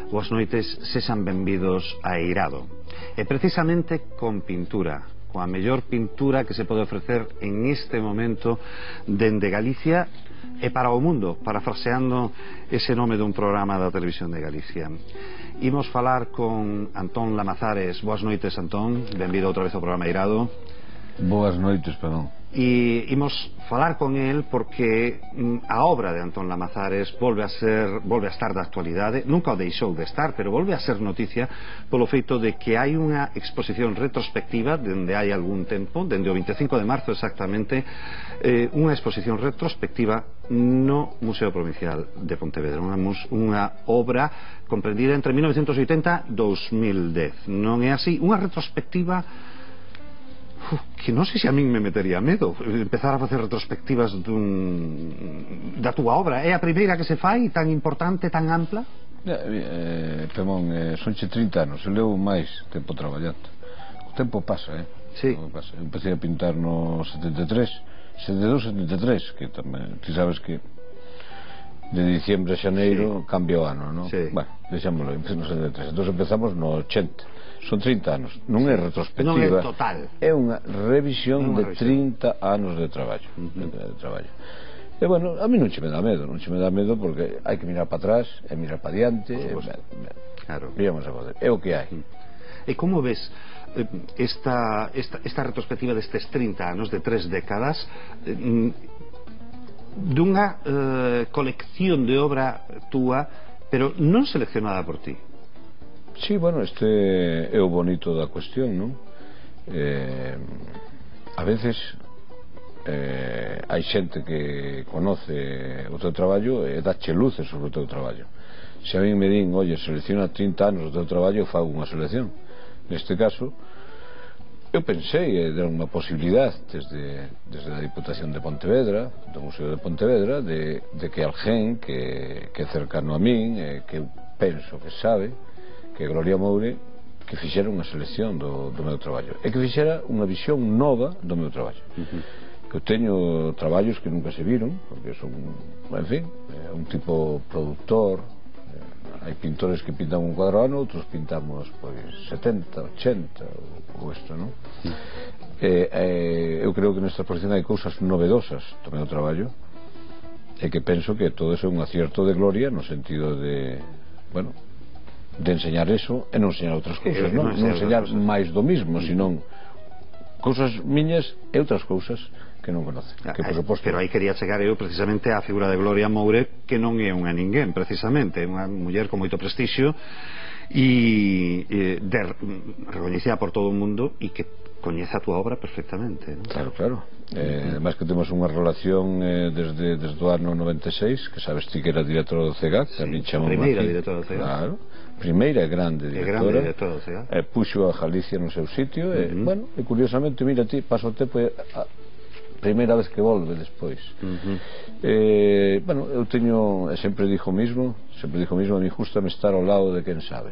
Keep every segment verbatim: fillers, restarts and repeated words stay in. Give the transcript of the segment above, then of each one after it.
Boas noites, sexan benvidos a Eirado. E precisamente con pintura, coa mellor pintura que se pode ofrecer en este momento dende Galicia e para o mundo, parafraseando ese nome dun programa da Televisión de Galicia. Imos falar con Antón Lamazares. Boas noites, Antón, benvido outra vez ao programa Eirado. Boas noites, perdón. E imos falar con el porque a obra de Antón Lamazares volve a ser volve a estar de actualidade, nunca o deixou de estar, pero volve a ser noticia polo feito de que hai unha exposición retrospectiva dende hai algún tempo, dende o veinticinco de marzo exactamente, eh, unha exposición retrospectiva no Museo Provincial de Pontevedra, unha, unha obra comprendida entre mil novecentos oitenta e dos mil dez, non é así? Unha retrospectiva Uf, que non sei se a min me metería medo empezar a facer retrospectivas dun, da túa obra. É a primeira que se fai tan importante, tan ampla? Eh, eh, Pemón, eh, sonche trinta anos, eu levo máis tempo traballando. O tempo pasa, eh? Sí. O tempo pasa. Eu empecé a pintar no setenta e tres, setenta e dous, setenta e tres, que tamén, ti sabes que de diciembre a xaneiro sí. Cambia o ano, non? Sí. Bueno, deixámoslo, empecé no setenta e tres, entón empezamos no ochenta. Son trinta anos, non é retrospectiva, non é total, é unha revisión unha de revisión. trinta anos de traballo, uh -huh. de, de traballo. E bueno, a mí non che me dá medo, non che me dá medo porque hai que mirar para atrás e mirar para diante, e, me, me, claro. Vamos a poder, é o que hai. E como ves esta, esta, esta retrospectiva destes trinta anos, de tres décadas, dunha eh, colección de obra túa, pero non seleccionada por ti? Sí, bueno, este é o bonito da cuestión, non? Eh, a veces eh, hai xente que conoce o teu traballo e dache luces sobre o teu traballo. Se a mí me din, oye, selecciona trinta anos do teu traballo, eu fago unha selección. Neste caso, eu pensei e dar unha posibilidade desde, desde a Diputación de Pontevedra, do Museo de Pontevedra, de, de que alguén que, que é cercano a min, eh, que eu penso que sabe, que Gloria Moure, que fixera unha selección do, do meu traballo e que fixera unha visión nova do meu traballo. Uh -huh. Que eu teño traballos que nunca se viron, porque son, en fin, é un tipo productor. Hai pintores que pintan un cuadro ano, outros pintamos pois setenta, ochenta ou isto, non? Uh -huh. eh, eh, eu creo que nesta exposición hai cousas novedosas do meu traballo e que penso que todo eso é un acierto de Gloria no sentido de, bueno, de enseñar eso e non enseñar outras cousas, non, non enseñar máis do mismo, senón cousas miñas e outras cousas que non conoce, que por suposto... Pero aí quería chegar eu precisamente á figura de Gloria Moure, que non é unha ninguén, precisamente, é unha muller con moito prestixio e, e de, recoñecida por todo o mundo e que coñece a túa obra perfectamente, non? Claro, claro. Eh, además que temos unha relación eh, desde, desde o ano noventa e seis, que sabes ti que era directora do C E G A C, sí, a primeira directora do C E G A C. Claro, primeira e grande directora, grande directora do C E G A C. E puxo a Galicia no seu sitio, uh -huh. E, bueno, e curiosamente, mira ti, paso o tempo e a primeira vez que volve despois. Uh -huh. eh, bueno, eu teño, sempre dixo o mismo, sempre dixo o mismo, a mí gustame estar ao lado de quen sabe.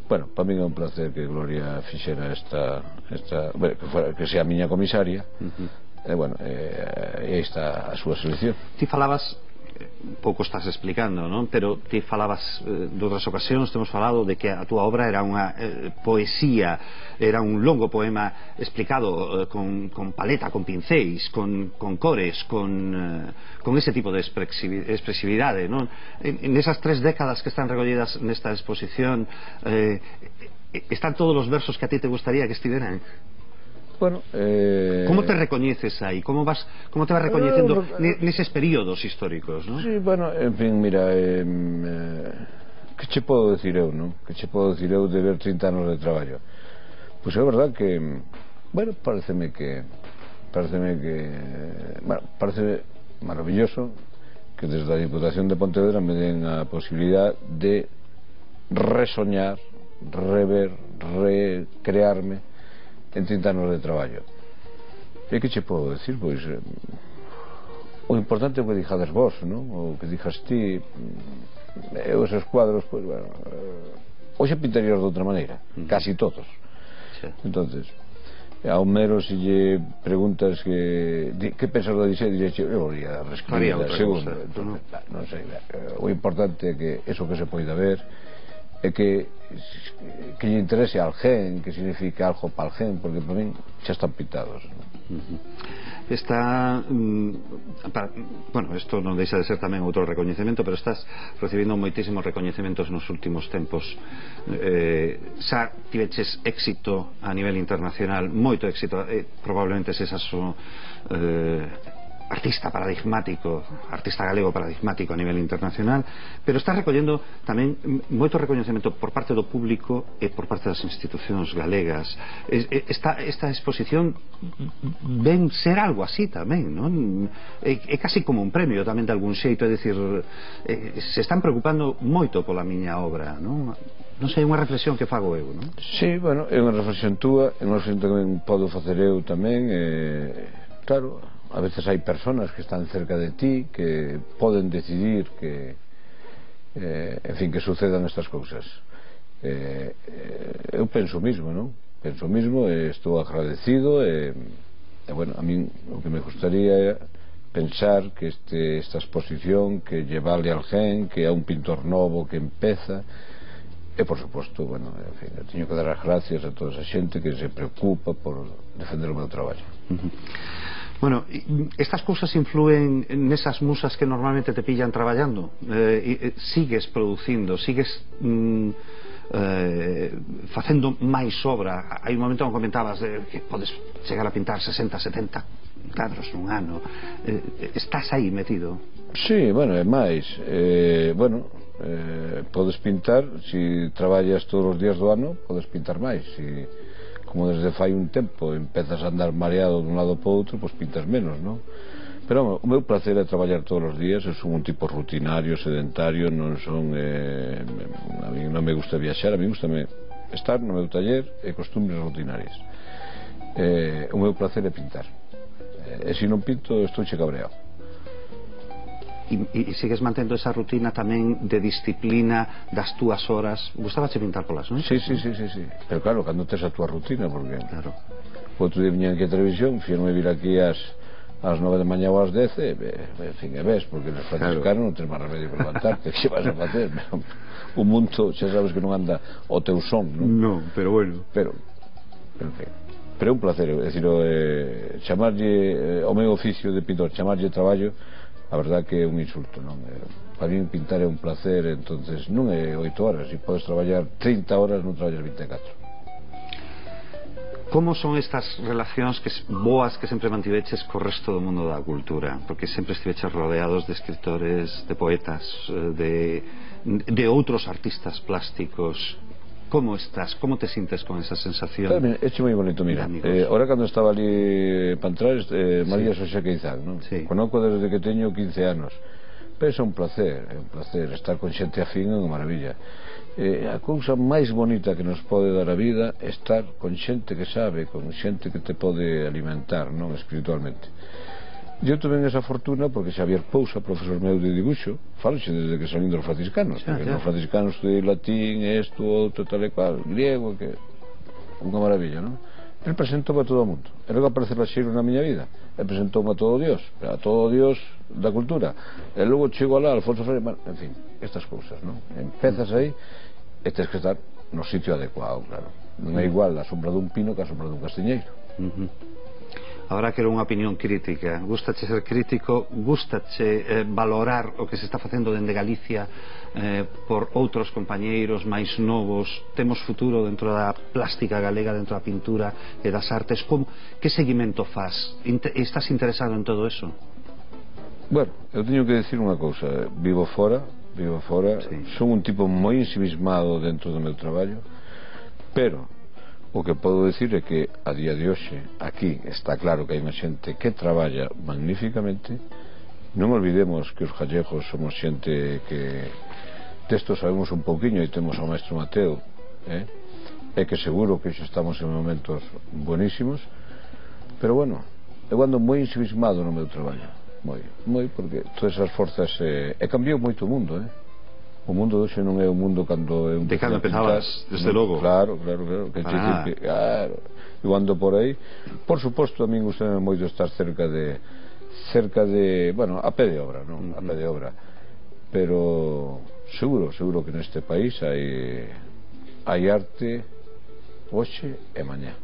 Bueno, para mí é un placer que Gloria fixera esta, esta bueno, que, fuera, que sea a miña comisaria. Uh -huh. E bueno, e aí está a súa selección. Ti falabas, pouco estás explicando, non? Pero ti falabas eh, de outras ocasións, temos falado de que a túa obra era unha eh, poesía, era un longo poema explicado eh, con, con paleta, con pincéis, con, con cores, con, eh, con ese tipo de expresividade, non? En, en esas tres décadas que están recollidas nesta exposición, eh, están todos os versos que a ti te gustaría que estiveran? Bueno, eh... como te recoñeces aí? Como vas, como te vas recoñecendo eh, neses períodos históricos, non? Sí, bueno, en fin, mira, eh, eh, que che podo decir eu, non? Que che podo decir eu de ver trinta anos de traballo? Pois é verdad que, bueno, pareceme que pareceme que, bueno, parece maravilloso que desde a Diputación de Pontevedra me den a posibilidad de resoñar, rever, recrearme en trinta anos de traballo. E que che podo decir? Pois eh, o importante é o que dixades vos, non? O que dixas ti, e os escuadros, pois, bueno, eh, hoxe pintarías de outra maneira, uh -huh. Casi todos. Sí. Entonces, a Homero se lle preguntas que que pensas do Odisea, diría eu ia reescribir a segunda, entonces, non sei, o importante é que eso que se poida ver é que que lle interese al gen, que significa algo para el gen, porque para min xa están pintados, ¿no? Uh-huh. Está mm, para, bueno, isto non deixa de ser tamén outro recoñecemento, pero estás recibindo moitísimos recoñecementos nos últimos tempos. eh, xa tiveches éxito a nivel internacional, moito éxito, eh, probablemente sesas o eh, artista paradigmático, artista galego paradigmático a nivel internacional, pero está recollendo tamén moito recoñecemento por parte do público e por parte das institucións galegas. Esta, esta exposición ven ser algo así tamén, non? É, é casi como un premio tamén de algún xeito, é dicir, eh, se están preocupando moito pola miña obra, non? Non sei, é unha reflexión que fago eu, non? Sí, bueno, é unha reflexión túa, é unha reflexión que tamén podo facer eu tamén, eh, claro, a veces hai personas que están cerca de ti que poden decidir que eh, en fin, que sucedan estas cousas. eh, eh, eu penso o mismo, non? Penso o mismo e estou agradecido e, e bueno, a min o que me gustaría é pensar que este, esta exposición que lle vale al gen, que é un pintor novo que empeza, e por suposto, bueno, en fin, eu teño que dar as gracias a toda esa xente que se preocupa por defender o meu traballo. Uh-huh. Bueno, estas cousas influen nesas musas que normalmente te pillan traballando. Eh, sigues producindo, sigues mm, eh, facendo máis obra. Hai un momento onde comentabas eh, que podes chegar a pintar sesenta, setenta cadros nun ano. Eh, estás aí metido? Sí, bueno, é máis. Eh, bueno, eh, podes pintar, se si traballas todos os días do ano, podes pintar máis. Si como desde fai un tempo empezas a andar mareado dun lado para outro, pois pintas menos, non? Pero o meu placer é traballar todos os días. Eu son un tipo rutinario, sedentario, non son eh, a mí non me gusta viaxar, a mí gusta estar no meu taller e costumbres rutinarias. Eh, o meu placer é pintar, e se non pinto estou che cabreado. E, e sigues mantendo esa rutina tamén de disciplina das túas horas? Gustaba che pintar polas noites? Sí, sí, sí, sí, sí. Pero claro, cando tes a túa rutina, porque claro, o outro día viñan aquí a televisión, fíjame vir aquí ás ás nove da mañá ou ás dez, e, en fin, e ves, porque nos franciscanos claro, non tens máis remedio que levantarte, que vas a facer? O mundo, xa sabes que non anda o teu son, non? Non, pero bueno. Pero, pero en fin, pero é un placer, é dicir, eh, chamarlle, eh, o meu oficio de pintor, chamarlle traballo, a verdad que é un insulto, non? Para mí pintar é un placer, entonces non é oito horas, se podes traballar trinta horas non traballas vinte e catro. Como son estas relacións que boas que sempre mantiveches co resto do mundo da cultura? Porque sempre estiveches rodeados de escritores, de poetas, de, de outros artistas plásticos. Como estás? Como te sintes con esa sensación? Claro, é moi bonito, mira, eh, ahora cando estaba ali Pantrares, eh, María sí. Xoxa Queizán, non? Sí. Conozco desde que teño quince anos, pero é un placer, é un placer estar con xente afín, é unha maravilla. Eh, a cousa máis bonita que nos pode dar a vida é estar con xente que sabe, con xente que te pode alimentar, non, espiritualmente. Eu tamén esa fortuna porque Xavier Pousa, profesor meu de dibuixo, faloxe desde que salín dos franciscanos, xa, porque xa. nos franciscanos estudei latín, isto, outro, tal e cual, griego, que unha maravilla, non? Ele presentou a todo o mundo, e logo aparece Laxeiro na miña vida, e presentou a todo Dios, a todo Dios da cultura, e logo chego alá, Alfonso Freire, en fin, estas cousas, non? Empezas aí e tens que estar no sitio adecuado, claro, non é igual a sombra dun pino que a sombra dun castiñeiro. Uh-huh. Ahora quero unha opinión crítica. Gústache ser crítico? Gústache eh, valorar o que se está facendo dende Galicia eh, por outros compañeiros máis novos? Temos futuro dentro da plástica galega, dentro da pintura e das artes? Como, que seguimento faz? Inter, estás interesado en todo eso? Bueno, eu teño que decir unha cousa. Vivo fora, vivo fora, sí. Son un tipo moi ensimismado dentro do meu traballo, pero o que podo decir é que a día de hoxe aquí está claro que hai unha xente que traballa magníficamente. Non olvidemos que os gallegos somos xente que desto sabemos un pouquiño e temos ao maestro Mateo, eh? E que seguro que xa estamos en momentos buenísimos, pero bueno, eu ando moi ensimismado no meu traballo, moi, moi, porque todas esas forzas eh, e cambiou moito o mundo, eh? o mundo hoxe non é o mundo cando eu de cando empezabas, desde logo. Claro, claro, claro, que ah. que, claro, eu ando por aí. Por suposto, a min gustame moito estar cerca de cerca de, bueno, a pé de obra, non? A pé de obra. Pero seguro, seguro que neste país hai hai arte hoxe e mañá.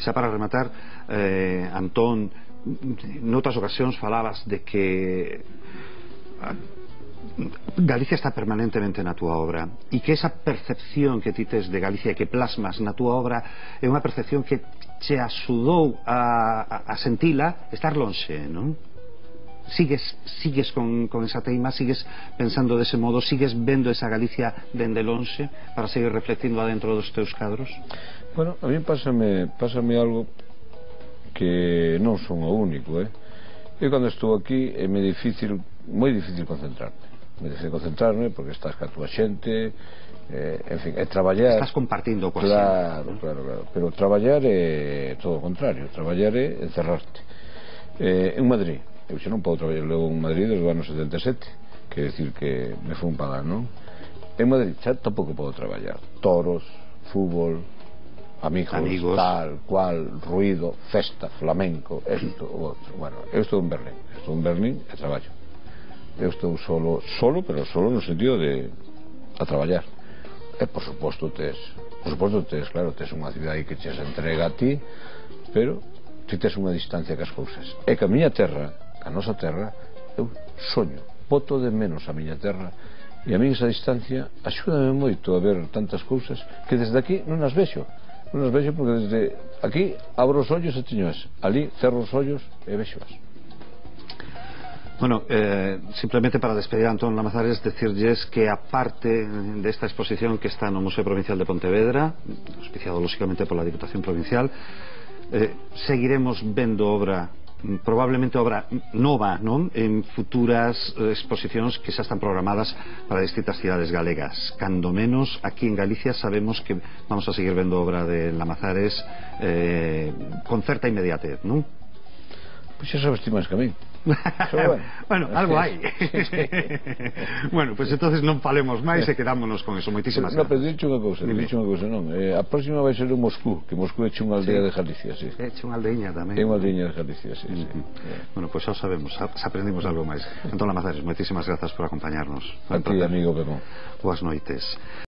Xa para rematar, eh, Antón, noutras ocasións falabas de que Galicia está permanentemente na túa obra e que esa percepción que ti tes de Galicia que plasmas na túa obra é unha percepción que che axudou a, a, a sentila estar lonxe, non? Sigues, sigues con, con esa teima, sigues pensando dese modo, sigues vendo esa Galicia dende lonxe para seguir reflectindo adentro dos teus cadros? Bueno, a mí pásame, pásame algo que non son o único, eh? Eu cando estou aquí é moi difícil, moi difícil concentrarme. Me deixei concentrarme porque estás ca túa xente, eh, en fin, é traballar. Estás compartindo coa claro, xente. Claro, claro, pero traballar é todo o contrario, traballar é encerrarte. Eh, en Madrid, eu xa non podo traballar logo en Madrid desde o ano setenta e sete, que decir que me foi un pagar, non? En Madrid xa tampouco podo traballar. Toros, fútbol, amigos, amigos, tal, cual, ruido, festa, flamenco, esto, o outro. Bueno, eu estou en Berlín, estou en Berlín e traballo. Eu estou solo, solo, pero solo no sentido de a traballar. E por suposto tes, por suposto tes, claro, tes unha cidade que che se entrega a ti, pero ti tes unha distancia cas cousas. E que a miña terra, a nosa terra, eu soño, boto de menos a miña terra, e a mí esa distancia axúdame moito a ver tantas cousas que desde aquí non as vexo. Non as vexo porque desde aquí abro os ollos e teñoas, ali cerro os ollos e vexoas. Bueno, eh, simplemente para despedir a Antón Lamazares, decirlles que aparte de esta exposición que está no Museo Provincial de Pontevedra, auspiciado lógicamente por la Diputación Provincial, eh, seguiremos vendo obra, probablemente obra nova, non? En futuras eh, exposicións que xa están programadas para distintas cidades galegas. Cando menos aquí en Galicia sabemos que vamos a seguir vendo obra de Lamazares eh, con certa inmediatez, non? Pois xa sabes ti máis que a mí. Bueno, bueno, algo hai. Bueno, pois pues entonces non falemos máis e quedámonos con eso. Moitísimas no, gracias. pero dicho unha cousa, dicho unha cousa, non. Eh, a próxima vai ser en Moscú, que Moscú é unha aldea sí. de Galicia, sí. É unha aldeiña tamén. É unha aldeiña de Galicia, sí, sí. Uh-huh. Sí. Bueno, pois pues xa sabemos, xa aprendimos algo máis. Antón Lamazares, moitísimas grazas por acompañarnos. A ti, amigo Pepón. Boas noites.